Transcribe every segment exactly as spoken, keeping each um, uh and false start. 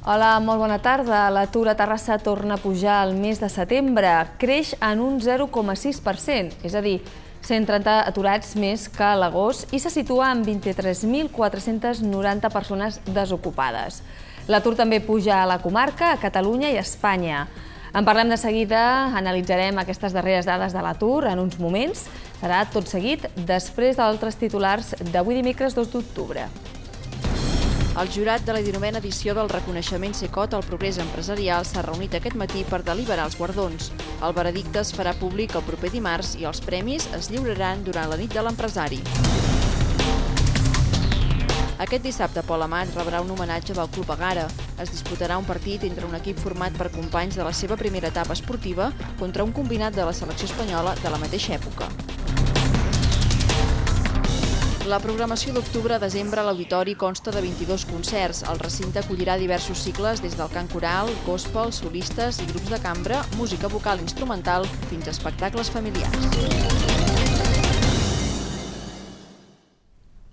Hola, molt bona tarda. L'atur a Terrassa torna a pujar al mes de setembre. Creix en un zero coma sis per cent, és a dir, cent trenta aturats més que a l'agost i se situa en vint-i-tres mil quatre-cents noranta persones desocupades. L'atur també puja a la comarca, a Catalunya i a Espanya. En parlem de seguida, analitzarem aquestes darreres dades de l'atur en uns moments. Serà tot seguit després d'altres titulars d'avui dimecres dos d'octubre. El jurat de la dinovena edició del reconeixement Cecot al progrés empresarial s'ha reunit aquest matí per deliberar els guardons. El veredicte es farà públic el proper dimarts i els premis es lliuraran durant la nit de l'empresari. Aquest dissabte, Pol Amat rebrà un homenatge del Club Egara. Es disputarà un partit entre un equip format per companys de la seva primera etapa esportiva contra un combinat de la selecció espanyola de la mateixa època. La programació d'octubre a desembre a l'auditori consta de vint-i-dos concerts. El recinte acollirà diversos cicles des del cant coral, gospel, solistes i grups de cambra, música vocal instrumental, fins a espectacles familiars.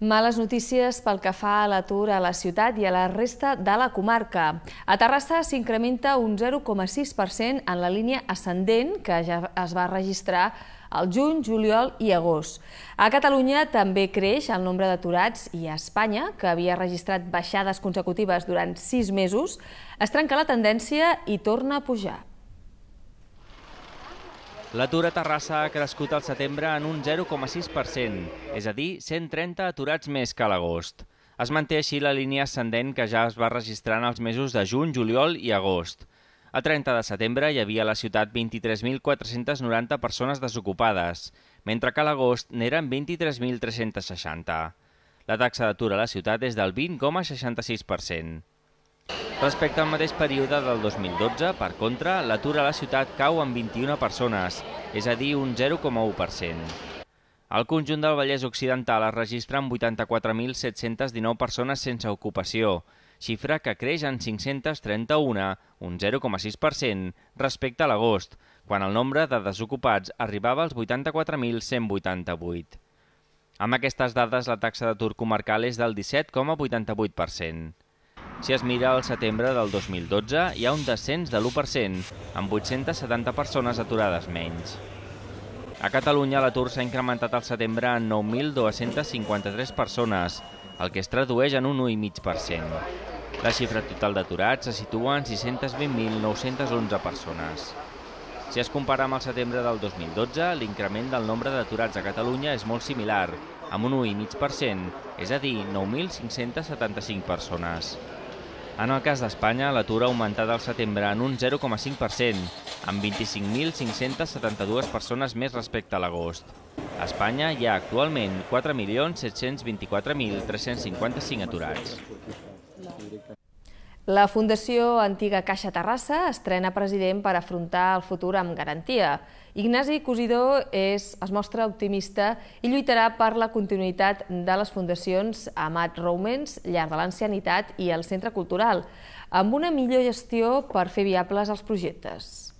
Males notícies pel que fa a l'atur a la ciutat i a la resta de la comarca. A Terrassa s'incrementa un zero coma sis per cent en la línia ascendent que ja es va registrar al juny, juliol i agost. A Catalunya també creix el nombre d'aturats i a Espanya, que havia registrat baixades consecutives durant sis mesos, es trenca la tendència i torna a pujar. L'atur a Terrassa ha crescut al setembre en un zero coma sis per cent, és a dir, cent trenta aturats més que a l'agost. Es manté així la línia ascendent que ja es va registrar en els mesos de juny, juliol i agost. A trenta de setembre hi havia a la ciutat vint-i-tres mil quatre-cents noranta persones desocupades, mentre que a l'agost n'eren vint-i-tres mil tres-cents seixanta. La taxa d'atur a la ciutat és del vint coma seixanta-sis per cent. Respecte al mateix període del dos mil dotze, per contra, l'atur a la ciutat cau en vint-i-una persones, és a dir, un zero coma u per cent. Al conjunt del Vallès Occidental es registren vuitanta-quatre mil set-cents dinou persones sense ocupació, xifra que creix en cinc-cents trenta-un, un zero coma sis per cent, respecte a l'agost, quan el nombre de desocupats arribava als vuitanta-quatre mil cent vuitanta-vuit. Amb aquestes dades, la taxa d'atur comarcal és del disset coma vuitanta-vuit per cent. Si es mira al setembre del dos mil dotze, hi ha un descens de l'u per cent, amb vuit-centes setanta persones aturades menys. A Catalunya, l'atur s'ha incrementat al setembre en nou mil dos-cents cinquanta-tres persones, el que es tradueix en un u coma cinc per cent. La xifra total d'aturats se situa en sis-cents vint mil nou-cents onze persones. Si es compara amb el setembre del dos mil dotze, l'increment del nombre d'aturats a Catalunya és molt similar, amb un u coma cinc per cent, és a dir, nou mil cinc-cents setanta-cinc persones. En el cas d'Espanya, l'atur ha augmentat al setembre en un zero coma cinc per cent, amb vint-i-cinc mil cinc-cents setanta-dues persones més respecte a l'agost. A Espanya hi ha actualment quatre milions set-cents vint-i-quatre mil tres-cents cinquanta-cinc aturats. La Fundació Antiga Caixa Terrassa estrena president per afrontar el futur amb garantia. Ignasi Cosidó es mostra optimista i lluitarà per la continuïtat de les fundacions Amat Roumens, Llar de l'Ancianitat i el Centre Cultural, amb una millor gestió per fer viables els projectes.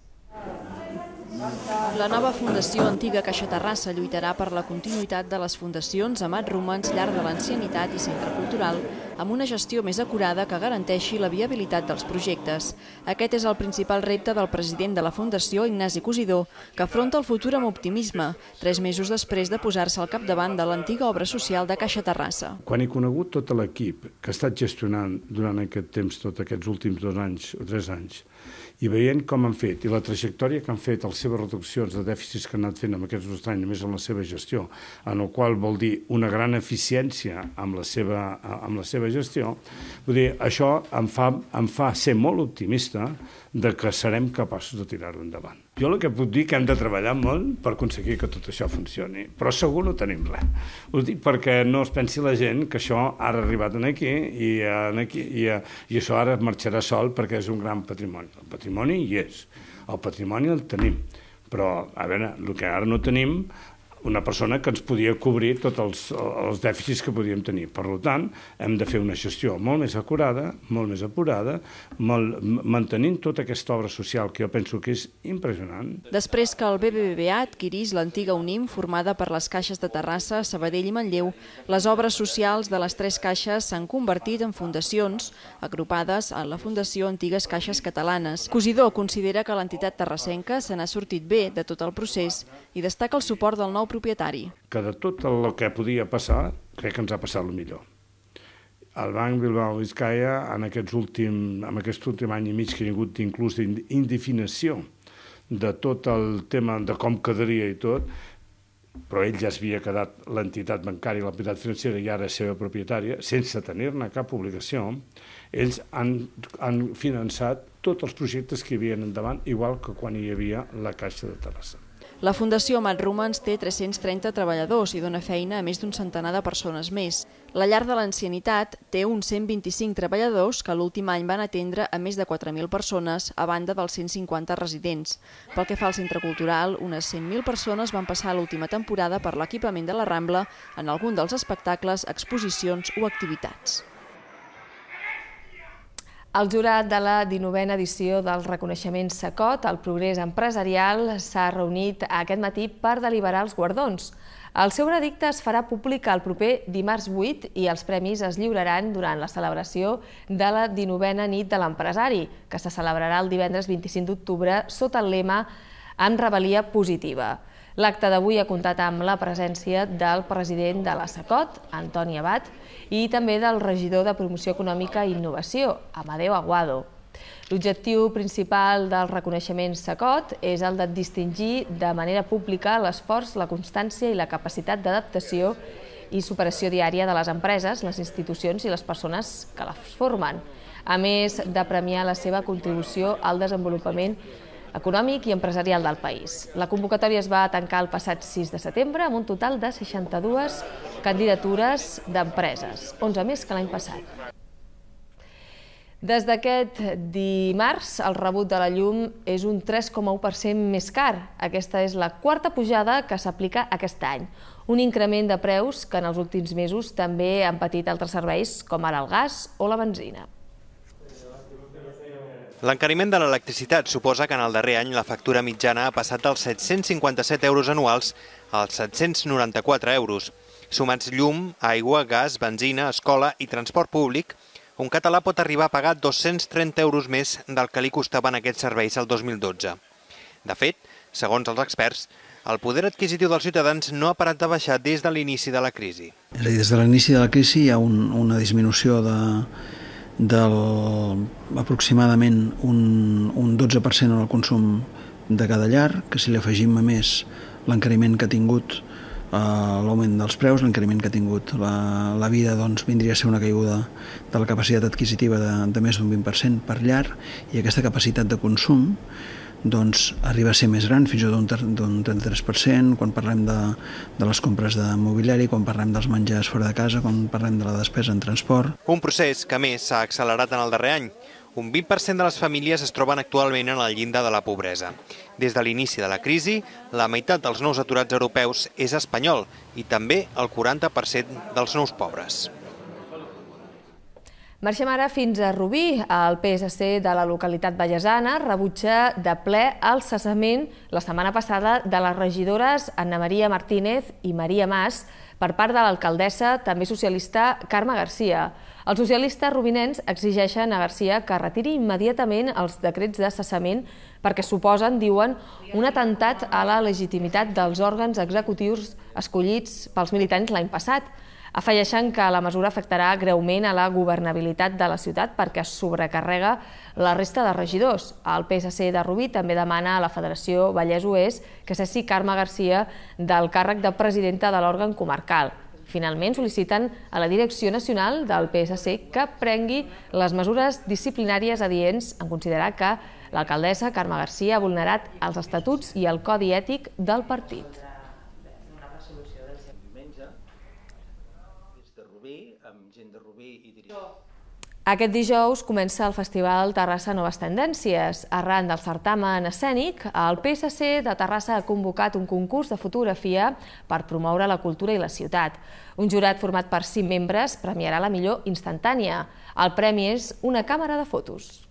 La nova Fundació Antiga Caixa Terrassa lluitarà per la continuïtat de les fundacions Amat Roumens, Llar de l'Ancianitat i Centre Cultural, amb una gestió més acurada que garanteixi la viabilitat dels projectes. Aquest és el principal repte del president de la Fundació, Ignasi Cosidó, que afronta el futur amb optimisme, tres mesos després de posar-se al capdavant de l'antiga obra social de Caixa Terrassa. Quan he conegut tot l'equip que ha estat gestionant durant aquest temps, tots aquests últims dos anys o tres anys, i veient com han fet i la trajectòria que han fet, les seves reduccions de dèficits que han anat fent amb aquests dos anys, només amb la seva gestió, en el qual vol dir una gran eficiència amb la seva, amb la seva gestió, vull dir, això em fa, em fa ser molt optimista de que serem capaços de tirar-ho endavant. Jo el que puc dir que hem de treballar molt per aconseguir que tot això funcioni, però segur no tenim res. Ho dic perquè no es pensi la gent que això ara ha arribat aquí i, aquí, i, i això ara marxarà sol perquè és un gran patrimoni. El patrimoni hi és, el patrimoni el tenim, però a veure, el que ara no tenim una persona que ens podia cobrir tots els, els dèficits que podíem tenir. Per tant, hem de fer una gestió molt més acurada, molt més apurada, molt, mantenint tota aquesta obra social que jo penso que és impressionant. Després que el B B V A adquirís l'antiga Unim, formada per les caixes de Terrassa, Sabadell i Manlleu, les obres socials de les tres caixes s'han convertit en fundacions agrupades en la Fundació Antigues Caixes Catalanes. Cosidó considera que l'entitat terrassenca se n'ha sortit bé de tot el procés i destaca el suport del nou propietari. Que de tot el que podia passar, crec que ens ha passat el millor. El Banc Bilbao Vizcaya, en, aquests últim, en aquest últim any i mig que hi ha hagut inclús d'indefinició de tot el tema de com quedaria i tot, però ell ja s'havia quedat l'entitat bancària, l'entitat financera i ara és seva propietària, sense tenir-ne cap obligació, ells han, han finançat tots els projectes que hi havia endavant, igual que quan hi havia la Caixa de Terrassa. La Fundació Amat Romans té tres-cents trenta treballadors i dona feina a més d'un centenar de persones més. La llar de l'ancianitat té uns cent vint-i-cinc treballadors que l'últim any van atendre a més de quatre mil persones, a banda dels cent cinquanta residents. Pel que fa al centre cultural, unes cent mil persones van passar l'última temporada per l'equipament de la Rambla en algun dels espectacles, exposicions o activitats. El jurat de la dinovena edició del reconeixement Sacot al progrés empresarial s'ha reunit aquest matí per deliberar els guardons. El seu veredicte es farà públic el proper dimarts vuit i els premis es lliuraran durant la celebració de la dinovena nit de l'empresari, que se celebrarà el divendres vint-i-cinc d'octubre sota el lema amb rebel·lia positiva. L'acte d'avui ha comptat amb la presència del president de la Sacot, Antoni Abad, i també del regidor de Promoció Econòmica i Innovació, Amadeu Aguado. L'objectiu principal del reconeixement Sacot és el de distingir de manera pública l'esforç, la constància i la capacitat d'adaptació i superació diària de les empreses, les institucions i les persones que les formen, a més de premiar la seva contribució al desenvolupament econòmic i empresarial del país. La convocatòria es va tancar el passat sis de setembre amb un total de seixanta-dues candidatures d'empreses, onze més que l'any passat. Des d'aquest dimarts, el rebut de la llum és un tres coma u per cent més car. Aquesta és la quarta pujada que s'aplica aquest any. Un increment de preus que en els últims mesos també han patit altres serveis, com ara el gas o la benzina. L'encariment de l'electricitat suposa que en el darrer any la factura mitjana ha passat dels set-cents cinquanta-set euros anuals als set-cents noranta-quatre euros. Sumats llum, aigua, gas, benzina, escola i transport públic, un català pot arribar a pagar dos-cents trenta euros més del que li costaven aquests serveis el dos mil dotze. De fet, segons els experts, el poder adquisitiu dels ciutadans no ha parat de baixar des de l'inici de la crisi. És a dir, des de l'inici de la crisi hi ha un, una disminució de del aproximadament un, un dotze per cent en el consum de cada llar, que si li afegim a més l'encariment que ha tingut eh, l'augment dels preus, l'encariment que ha tingut la, la vida, doncs vindria a ser una caiguda de la capacitat adquisitiva de, de més d'un vint per cent per llar, i aquesta capacitat de consum doncs arriba a ser més gran, fins i tot d'un trenta-tres per cent, quan parlem de, de les compres de mobiliari, quan parlem dels menjars fora de casa, quan parlem de la despesa en transport. Un procés que, a més, s'ha accelerat en el darrer any. Un vint per cent de les famílies es troben actualment en el llindar de la pobresa. Des de l'inici de la crisi, la meitat dels nous aturats europeus és espanyol i també el quaranta per cent dels nous pobres. Marxem ara fins a Rubí. El P S C de la localitat vallesana rebutja de ple el cessament la setmana passada de les regidores Anna Maria Martínez i Maria Mas per part de l'alcaldessa, també socialista, Carme Garcia. Els socialistes rubinencs exigeixen a Garcia que retiri immediatament els decrets de cessament perquè suposen, diuen, un atemptat a la legitimitat dels òrgans executius escollits pels militants l'any passat. Afegeixen que la mesura afectarà greument a la governabilitat de la ciutat perquè es sobrecarrega la resta de regidors. El P S C de Rubí també demana a la Federació Vallès-Oest que cessi Carme Garcia del càrrec de presidenta de l'òrgan comarcal. Finalment, sol·liciten a la Direcció Nacional del P S C que prengui les mesures disciplinàries adients en considerar que l'alcaldessa Carme Garcia ha vulnerat els estatuts i el codi ètic del partit. Aquest dijous comença el Festival Terrassa Noves Tendències. Arran del certamen escènic, el P S C de Terrassa ha convocat un concurs de fotografia per promoure la cultura i la ciutat. Un jurat format per cinc membres premiarà la millor instantània. El premi és una càmera de fotos.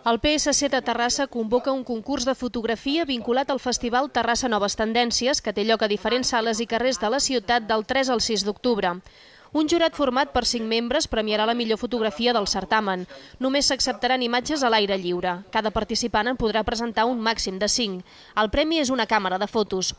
El P S C de Terrassa convoca un concurs de fotografia vinculat al Festival Terrassa Noves Tendències, que té lloc a diferents sales i carrers de la ciutat del tres al sis d'octubre. Un jurat format per cinc membres premiarà la millor fotografia del certamen. Només s'acceptaran imatges a l'aire lliure. Cada participant en podrà presentar un màxim de cinc. El premi és una càmera de fotos.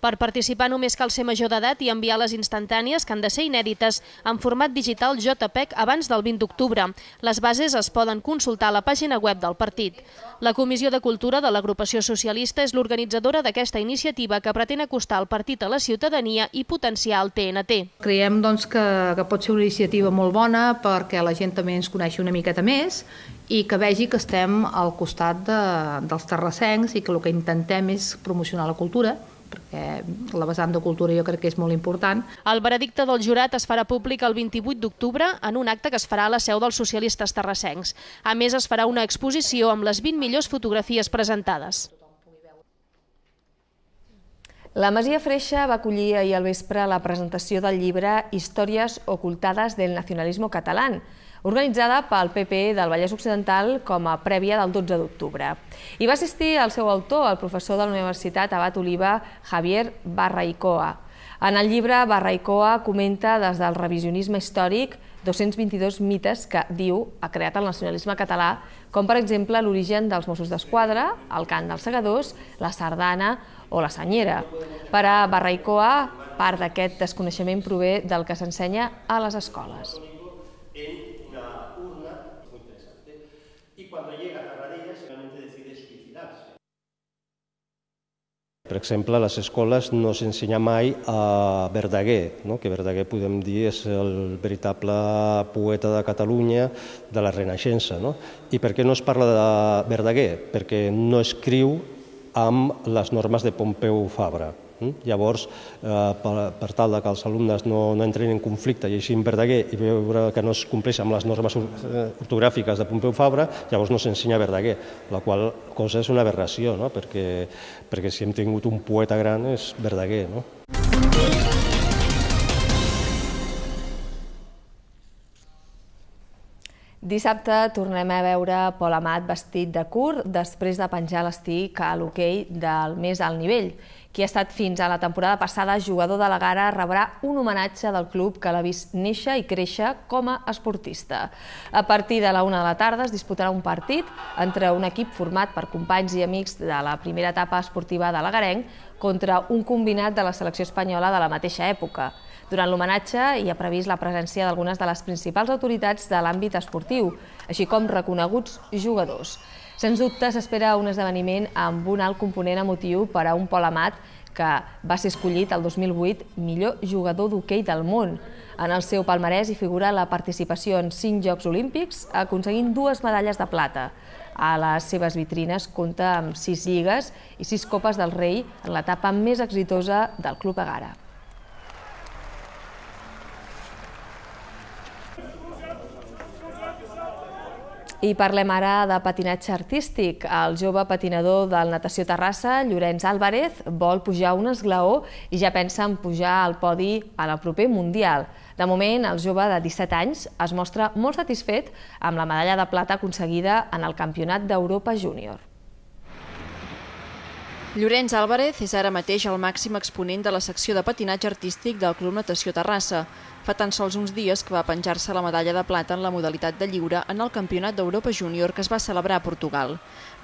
Per participar només cal ser major d'edat i enviar les instantànies, que han de ser inèdites, en format digital JPEG abans del vint d'octubre. Les bases es poden consultar a la pàgina web del partit. La Comissió de Cultura de l'Agrupació Socialista és l'organitzadora d'aquesta iniciativa que pretén acostar el partit a la ciutadania i potenciar el T N T. Creiem doncs, que, que pot ser una iniciativa molt bona perquè la gent també ens coneixi una miqueta més i que vegi que estem al costat de, dels terrassencs i que el que intentem és promocionar la cultura, perquè la vessant de cultura jo crec que és molt important. El veredicte del jurat es farà públic el vint-i-vuit d'octubre en un acte que es farà a la seu dels socialistes terrassencs. A més, es farà una exposició amb les vint millors fotografies presentades. La Masia Freixa va acollir ahir al vespre la presentació del llibre Històries ocultades del nacionalismo catalán, organitzada pel P P del Vallès Occidental com a prèvia del dotze d'octubre. Hi va assistir el seu autor, el professor de la Universitat Abat Oliba, Javier Barraicoa. En el llibre, Barraicoa comenta des del revisionisme històric dos-cents vint-i-dos mites que, diu, ha creat el nacionalisme català, com per exemple l'origen dels Mossos d'Esquadra, el cant dels segadors, la sardana o la senyera. Per a Barraicoa, part d'aquest desconeixement prové del que s'ensenya a les escoles. Per exemple, a les escoles no s'ensenya mai a Verdaguer, no? Que Verdaguer, podem dir, és el veritable poeta de Catalunya de la Renaixença. No? I per què no es parla de Verdaguer? Perquè no escriu amb les normes de Pompeu Fabra. Llavors, per, per tal que els alumnes no, no entrin en conflicte llegint Verdaguer i veure que no es compleix amb les normes ortogràfiques de Pompeu Fabra, llavors no s'ensenya Verdaguer, la qual cosa és una aberració, no? perquè, perquè si hem tingut un poeta gran és Verdaguer. No? Dissabte tornem a veure Pol Amat vestit de curt després de penjar l'estic a l'hoquei del més alt nivell. Qui ha estat fins a la temporada passada jugador de la Gara rebrà un homenatge del club que l'ha vist néixer i créixer com a esportista. A partir de la una de la tarda es disputarà un partit entre un equip format per companys i amics de la primera etapa esportiva de l'agarenc contra un combinat de la selecció espanyola de la mateixa època. Durant l'homenatge hi ha previst la presència d'algunes de les principals autoritats de l'àmbit esportiu, així com reconeguts jugadors. Sens dubte s'espera un esdeveniment amb un alt component emotiu per a un Pol Amat que va ser escollit el dos mil vuit millor jugador d'hoquei del món. En el seu palmarès hi figura la participació en cinc Jocs Olímpics, aconseguint dues medalles de plata. A les seves vitrines compta amb sis lligues i sis Copes del Rei en l'etapa més exitosa del Club Egara. I parlem ara de patinatge artístic. El jove patinador del Natació Terrassa, Llorenç Álvarez, vol pujar un esglaó i ja pensa en pujar al podi a la proper Mundial. De moment, el jove de disset anys es mostra molt satisfet amb la medalla de plata aconseguida en el Campionat d'Europa Júnior. Llorenç Álvarez és ara mateix el màxim exponent de la secció de patinatge artístic del Club Natació Terrassa. Fa tan sols uns dies que va penjar-se la medalla de plata en la modalitat de lliure en el Campionat d'Europa Júnior que es va celebrar a Portugal.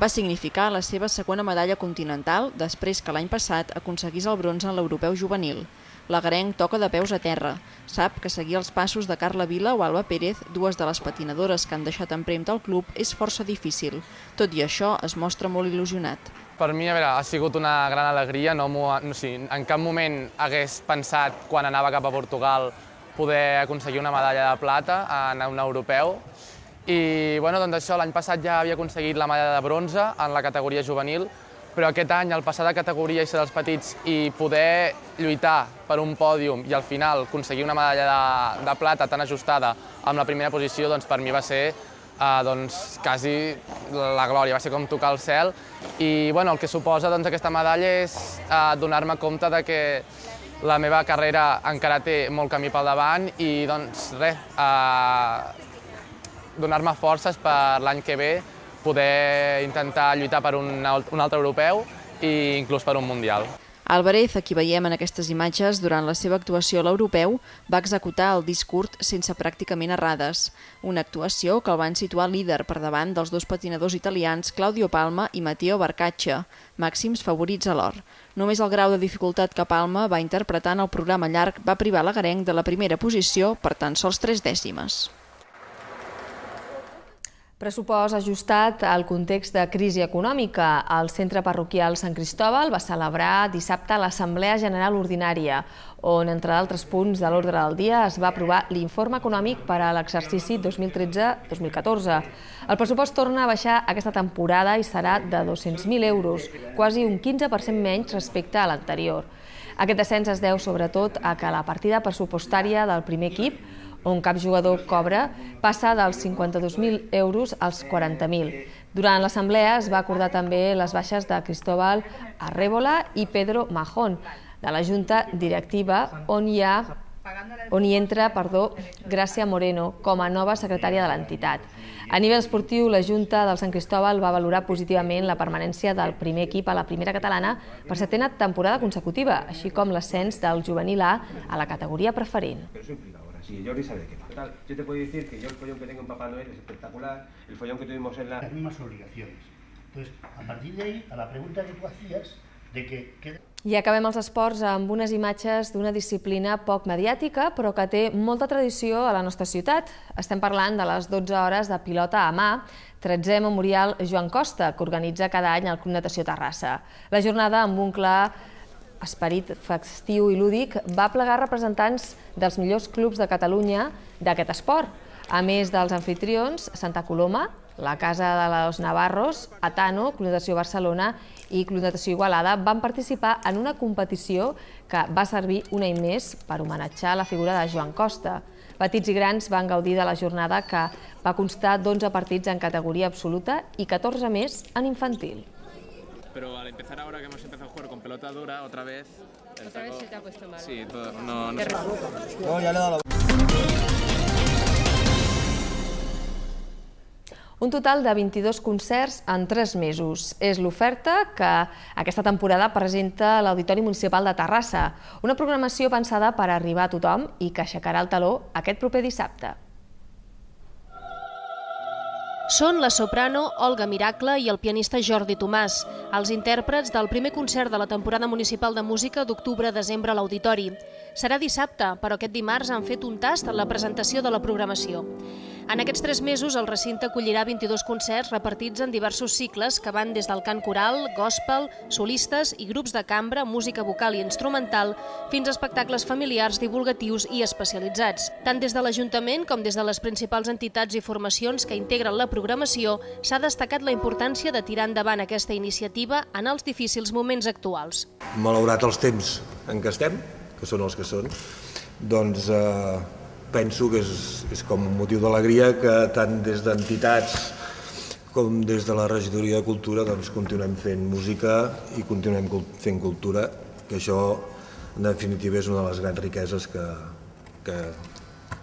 Va significar la seva segona medalla continental després que l'any passat aconseguís el bronze en l'Europeu Juvenil. L'agarenc toca de peus a terra. Sap que seguir els passos de Carla Vila o Alba Pérez, dues de les patinadores que han deixat empremta al club, és força difícil. Tot i això, es mostra molt il·lusionat. Per mi, a veure, ha sigut una gran alegria. No, no, sí, en cap moment hagués pensat, quan anava cap a Portugal, poder aconseguir una medalla de plata en un europeu. I bueno, doncs això, l'any passat ja havia aconseguit la medalla de bronze en la categoria juvenil, però aquest any, al passar de categoria i ser dels petits i poder lluitar per un pòdium i al final aconseguir una medalla de, de plata tan ajustada amb la primera posició, doncs per mi va ser eh, doncs, quasi la glòria, va ser com tocar el cel. I bueno, el que suposa doncs, aquesta medalla és eh, donar-me compte de que la meva carrera encara té molt camí pel davant i doncs res, eh, donar-me forces per l'any que ve poder intentar lluitar per un, un altre europeu i inclús per un mundial. Álvarez, a qui veiem en aquestes imatges, durant la seva actuació a l'europeu, va executar el disc curt sense pràcticament errades. Una actuació que el van situar líder per davant dels dos patinadors italians Claudio Palma i Matteo Barcaccia, màxims favorits a l'or. Només el grau de dificultat que Palma va interpretar en el programa llarg va privar l'agarenc de la primera posició per tan sols tres dècimes. Pressupost ajustat al context de crisi econòmica. El Centre Parroquial Sant Cristòbal va celebrar dissabte l'Assemblea General Ordinària, on, entre d'altres punts de l'ordre del dia, es va aprovar l'informe econòmic per a l'exercici dos mil tretze dos mil catorze. El pressupost torna a baixar aquesta temporada i serà de dos-cents mil euros, quasi un quinze per cent menys respecte a l'anterior. Aquest descens es deu sobretot a que la partida pressupostària del primer equip, on cap jugador cobra, passa dels cinquanta-dos mil euros als quaranta mil. Durant l'assemblea es va acordar també les baixes de Cristóbal Arrébola i Pedro Majón, de la Junta Directiva, on hi ha on hi entra perdó, Gràcia Moreno com a nova secretària de l'entitat. A nivell esportiu, la Junta del Sant Cristòbal va valorar positivament la permanència del primer equip a la primera catalana per setena temporada consecutiva, així com l'ascens del juvenil A a la categoría preferent. Sí, Jordi sabe qué pasa. Yo te puedo decir que yo el follón que tengo en Papá Noel es espectacular, el follón que tuvimos en la... Las mismas obligaciones. Entonces, a partir de ahí, a la pregunta que tú hacías, de que... I acabem els esports amb unes imatges d'una disciplina poc mediàtica, però que té molta tradició a la nostra ciutat. Estem parlant de les dotze hores de pilota a mà, tretzè Memorial Joan Costa, que organitza cada any el Club Natació Terrassa. La jornada, amb un clar esperit festiu i lúdic, va plegar representants dels millors clubs de Catalunya d'aquest esport. A més dels anfitrions, Santa Coloma, la Casa de los Navarros, Atano, Club Natació Barcelona i Club Natació Igualada van participar en una competició que va servir un any més per homenatjar la figura de Joan Costa. Petits i grans van gaudir de la jornada, que va constar d'onze partits en categoria absoluta i catorze més en infantil. Pero al empezar ahora que hemos empezado a jugar con pelota dura, otra vez... ¿Otra vez se te ha puesto mal? Sí, todo, no, no sé. No, ya le he dado la... Un total de vint-i-dos concerts en tres mesos. És l'oferta que aquesta temporada presenta l'Auditori Municipal de Terrassa, una programació pensada per arribar a tothom i que aixecarà el taló aquest proper dissabte. Són la soprano Olga Miracle i el pianista Jordi Tomàs, els intèrprets del primer concert de la temporada municipal de música d'octubre-desembre a l'Auditori. Serà dissabte, però aquest dimarts han fet un tast en la presentació de la programació. En aquests tres mesos, el recinte acollirà vint-i-dos concerts repartits en diversos cicles que van des del cant coral, gospel, solistes i grups de cambra, música vocal i instrumental, fins a espectacles familiars, divulgatius i especialitzats. Tant des de l'Ajuntament com des de les principals entitats i formacions que integren la programació, s'ha destacat la importància de tirar endavant aquesta iniciativa en els difícils moments actuals. Malaurat els temps en què estem, que són els que són, doncs eh, penso que és, és com un motiu d'alegria que tant des d'entitats com des de la regidoria de cultura doncs, continuem fent música i continuem fent cultura, que això en definitiva és una de les grans riqueses que, que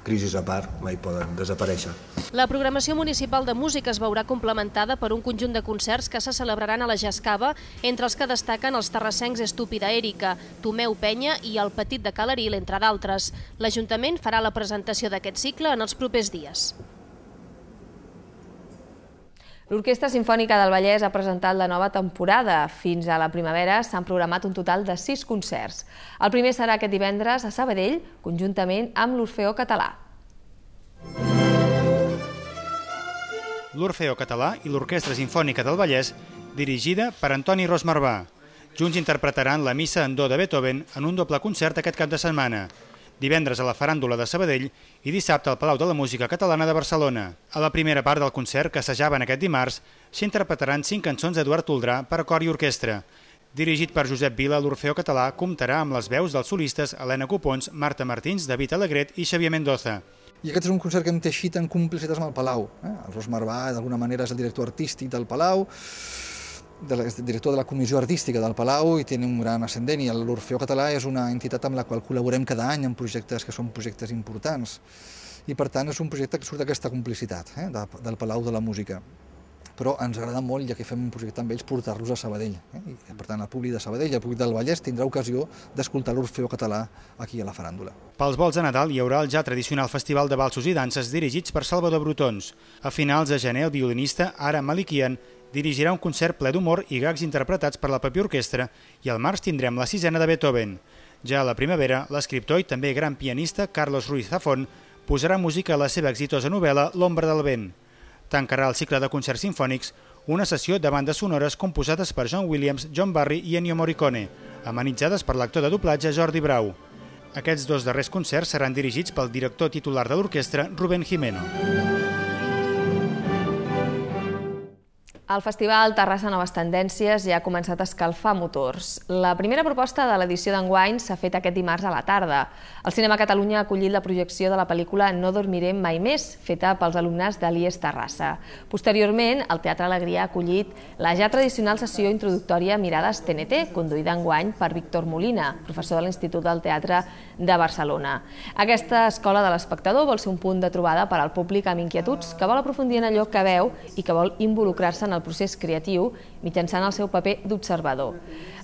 crisis a part mai poden desaparèixer. La programació municipal de música es veurà complementada per un conjunt de concerts que se celebraran a la Jascava, entre els que destaquen els terrassencs Estúpida Èrica, Tomeu Penya i el Petit de Calaril, entre d'altres. L'Ajuntament farà la presentació d'aquest cicle en els propers dies. L'Orquestra Simfònica del Vallès ha presentat la nova temporada. Fins a la primavera s'han programat un total de sis concerts. El primer serà aquest divendres a Sabadell, conjuntament amb l'Orfeó Català. L'Orfeó Català i l'Orquestra Simfònica del Vallès, dirigida per Antoni Rosmarbà. Junts interpretaran la Missa en do de Beethoven en un doble concert aquest cap de setmana. divendres a la Faràndula de Sabadell i dissabte al Palau de la Música Catalana de Barcelona. A la primera part del concert, que assajaven aquest dimarts, s'interpretaran cinc cançons d'Eduard Toldrà per a cor i orquestra. Dirigit per Josep Vila, l'Orfeó Català comptarà amb les veus dels solistes Helena Copons, Marta Martins, David Alegret i Xavier Mendoza. I aquest és un concert que hem teixit en complicitats amb el Palau. El Ros Marvà, d'alguna manera, és el director artístic del Palau, el director de la comissió artística del Palau, i té un gran ascendent, i l'Orfeó Català és una entitat amb la qual col·laborem cada any en projectes que són projectes importants. I, per tant, és un projecte que surt d'aquesta complicitat del Palau de la Música. Però ens agrada molt, ja que fem un projecte amb ells, portar-los a Sabadell. I, per tant, el públic de Sabadell i el públic del Vallès tindrà ocasió d'escoltar l'Orfeó Català aquí a la Faràndula. Pels volts de Nadal hi haurà el ja tradicional festival de balsos i danses dirigits per Salvador Brotons. A finals de gener, el violinista Ara Malikian dirigirà un concert ple d'humor i gags interpretats per la pròpia orquestra, i al març tindrem la sisena de Beethoven. Ja a la primavera, l'escriptor i també gran pianista Carlos Ruiz Zafón posarà música a la seva exitosa novel·la L'ombra del vent. Tancarà el cicle de concerts sinfònics una sessió de bandes sonores composades per John Williams, John Barry i Ennio Morricone, amenitzades per l'actor de doblatge Jordi Brau. Aquests dos darrers concerts seran dirigits pel director titular de l'orquestra, Rubén Jimeno. El Festival Terrassa Noves Tendències ja ha començat a escalfar motors. La primera proposta de l'edició d'enguany s'ha fet aquest dimarts a la tarda. El Cinema Catalunya ha acollit la projecció de la pel·lícula No dormirem mai més, feta pels alumnes de l'I E S Terrassa. Posteriorment, el Teatre Alegria ha acollit la ja tradicional sessió introductòria Mirades T N T, conduïda enguany per Víctor Molina, professor de l'Institut del Teatre de Barcelona. Aquesta escola de l'espectador vol ser un punt de trobada per al públic amb inquietuds, que vol aprofundir en allò que veu i que vol involucrar-se en el procés creatiu mitjançant el seu paper d'observador.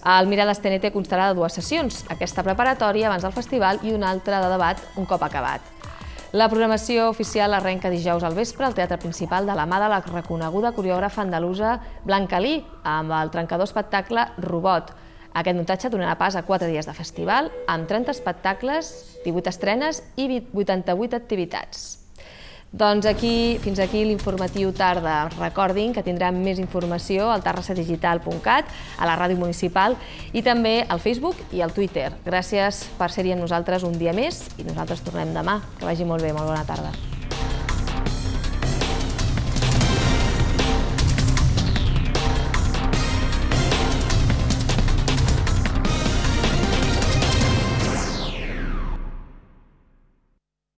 El Mirades T N T constarà de dues sessions, aquesta preparatòria abans del festival i una altra de debat un cop acabat. La programació oficial arrenca dijous al vespre al Teatre Principal de la mà de la reconeguda coreògrafa andalusa Blanca Lee, amb el trencador espectacle Robot. Aquest muntatge donarà pas a quatre dies de festival, amb trenta espectacles, divuit estrenes i vuitanta-vuit activitats. Doncs aquí, fins aquí l'informatiu tarda. Recordin que tindran més informació al terrassa digital punt cat, a la ràdio municipal i també al Facebook i al Twitter. Gràcies per ser-hi amb nosaltres un dia més i nosaltres tornem demà. Que vagi molt bé, molt bona tarda.